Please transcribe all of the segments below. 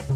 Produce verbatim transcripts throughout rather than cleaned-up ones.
Good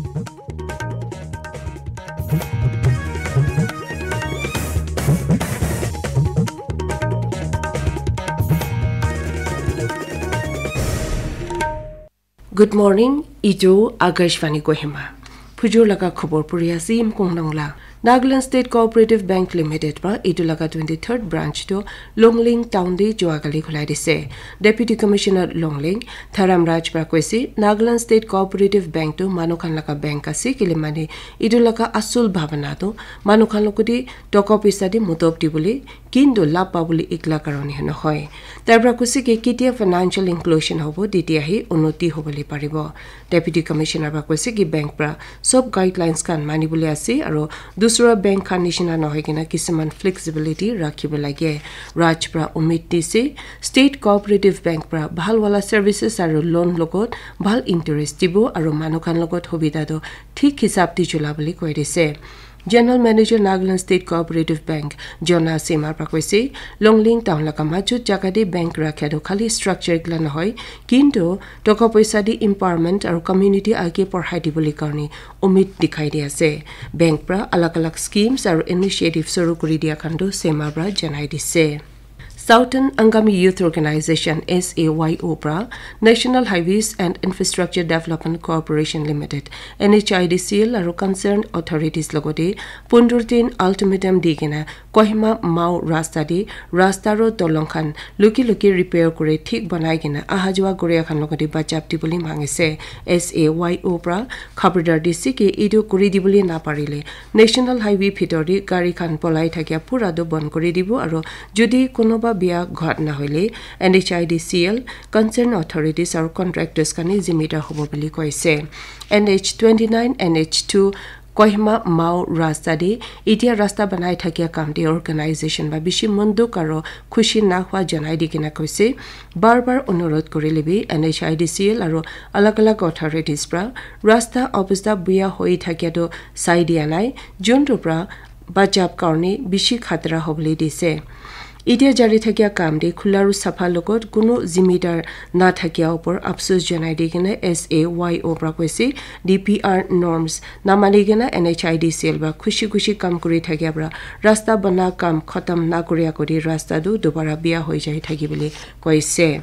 morning, ijo Akashvani Kohima. Phujur laga khobor puri ase, Imkong Nangla. Nagaland State Cooperative Bank Limited pra itu laga twenty-third branch tu Longling Town te joa kali khulai dise. Deputy Commissioner Longling, Tharam Raj pra koise, Nagaland State Cooperative Bank tu manu khan laga bank ase, kile mane itu laga asul bhabana tu manu khan logoti toka poisa di mutop dibole, kintu lab pabole ikla karone nohoi. Tar pra koise ki ketia financial inclusion hobo, tetiahi unnoti hobole paribo. Deputy Commissioner pra koise ki bank pra sob guidelines khan manibole ase, aro dusra bank khan nishina nohoi kena kisuman flexibility rakhibo lage. Raj pra umid dise, State Cooperative Bank pra bhal wala services aro loan logot bhal interest dibo, aro manu khan logot hobida to thik hisab di chula bole koi dise. General Manager Nagaland State Cooperative Bank, Jona Sema pra koise, Longling Town laga majut jaga te bank rakha tu khali structure ikla nohoi, kintu toka poisa di empowerment aro community age porhai dibole karone umid dikhai di ase. Bank pra alag alag schemes aro initiative suru kuri dia khan tu Sema pra janai dise. Southern Angami Youth Organization, S A Y O pra National Highways and Infrastructure Development Corporation Limited, N H I D C L, aro concerned authorities logote pondro din ultimatum di kena Kohima Mao rasta di rasta aro dolong khan luki luki repair kuri thik banai kena aha jua kuria khan logote bachap dibole mangise. S A Y O pra khabardar dise ki itu kuri dibole naparile National Highway bhitor te gari khan polai thakia pura tu bon kuri dibo, aro jodi kunuba bia ghat na hoile N H I D C L, concerned authorities aro contractors khan he zimidar hobo bole koise. N H twenty-nine, N H two, Kohima Mao rasta te itia rasta banai thakia kam te organization ba bishi monduk aro khushi na hua janai di kena koise. Bar bar onurodh kurile bi N H I D C L aro alag alag authorities pra rasta obostha buya hoi thakia to sai dia nai, juntu pra bachap karone bishi khatara hobole dise. Itia jari thakia kam te khula aro sapha logot kuno zimidar na thakia upor apsos janai di kena S A Y O pra koise, D P R norms namani kena N H I D C L pra khushi khushi kam kuri thakia pra rasta bana kam khatam na kuria kuri rasta tu dobara bia hoi jai thaki bole koise.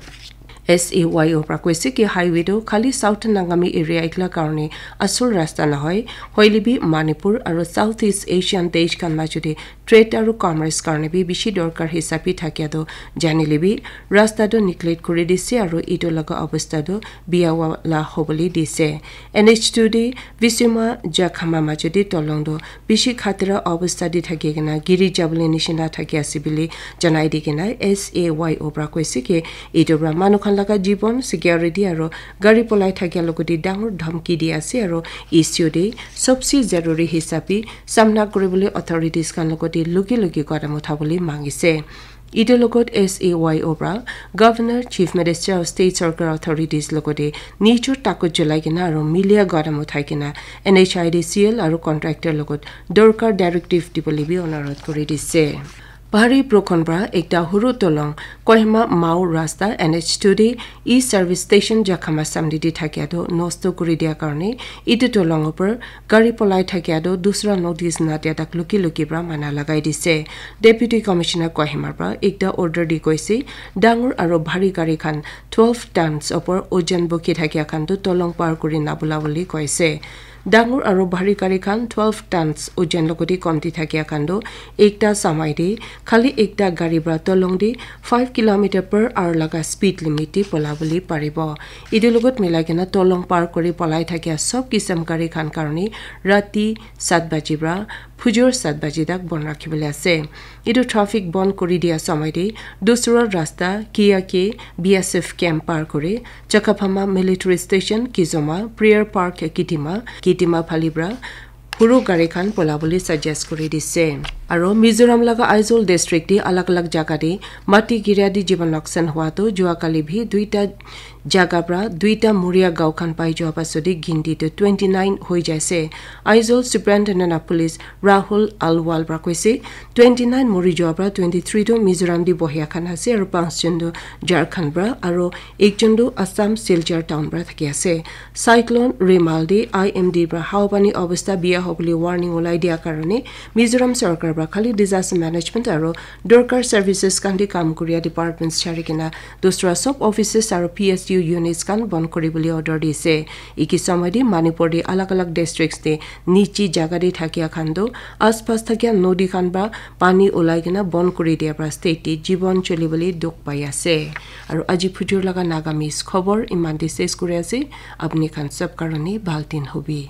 S A Y O pra koise ki highway tu khali Southern Angami area ikla karone asul rasta nohoi, hoile bi Manipur aro Southeast Asian desh khan majote trade aro commerce karone bi bishi dorkar hisabi thakia tu janile bi rasta tu neglect kuri dise aro itu laga obostha tu bia wala hobole dise. N H two de Visima Jakhama majote tolong tu bishi khatara obostha te thaki kena giri jabole nishina thaki ase bole janai di kena S A Y O pra koise ki itu pra manu khan laga jibon, security aro gari polai thakia logote dangor dhamki di ase, aro issue te sobse zaruri hisabe samna kuribole authorities khan logote luki luki kadam uthabole mangise. Itu logot S A Y O pra Governor, Chief Minister of State Sarkar authorities logote nijor takut cholai kena aro milia kadam uthai kena N H I D C L aro contractor logot dorkar directive dibole bi onurodh kuri dise. Bahari Prokhon pra ekta huru tolong Kohima Mao rasta N H two de e-service station Jakhama samdi de thakia to nosto kuri dia karone itu tolong upor gari polai thakia to dusra notice na dia tak luki luki pra mana lagai dise. Deputy Commissioner Kohima pra ekta order di koise, dangor aro bhari gari khan twelve tons upor ojan bukhi thakia khan tu tolong par kuri nabula bole koise. Dangor aro bhari gari khan twelve tons ojan logote komti thakia khan tu ekta samai te khali ekta gari pra tolong te five kilometer per hour laga speed limit te pola bole paribo. Itu logot milai kena tolong par kuri polai thakia sob kisam gari khan karone rati sat baji pra phujur sat baji tak bon rakhibole ase. Itu traffic bon kuri dia samai te dusra rasta Kiya ke B S F camp par kuri Chakaphama Military Station, Kizoma, Prayer Park, Kitima, Kitima phali pra huru gari khan pola bole suggest kuri dise. Aro Mizoram laga Aizawl district te alag alag jaga te mati giria te jiban loksan hua toh jua kali bhi duita jaga pra duita muria gao khan pai jua pasode ginti toh twenty nine hoi jaise. Aizawl Superintendent of Police Rahul Alwal pra koise, twenty nine mori jua pra twenty three toh Mizoram te bohia khan ase aro panch jon toh Jharkhand pra aro ekjon toh Assam Silchar town pra thaki ase. Cyclone Remal te I M D pra hawa pani obostha biya hobole warning ulai dia karone Mizoram sarkar pra khali disaster management aro dorkar services khan te kam kuria departments chari kena dusra sob offices aro P S U units khan bon kuri bole order dise. Iki samay te Manipur te alag alag districts te nichi jaga te thakia khan toh aspas thakia nodi khan pra pani ulai kena bon kuri dia pra state te jibon choli bole dukh pai ase. Aro aji phujur laga Nagamese khobor iman te ses kuri ase. Apni khan sob karone bhal din hobi.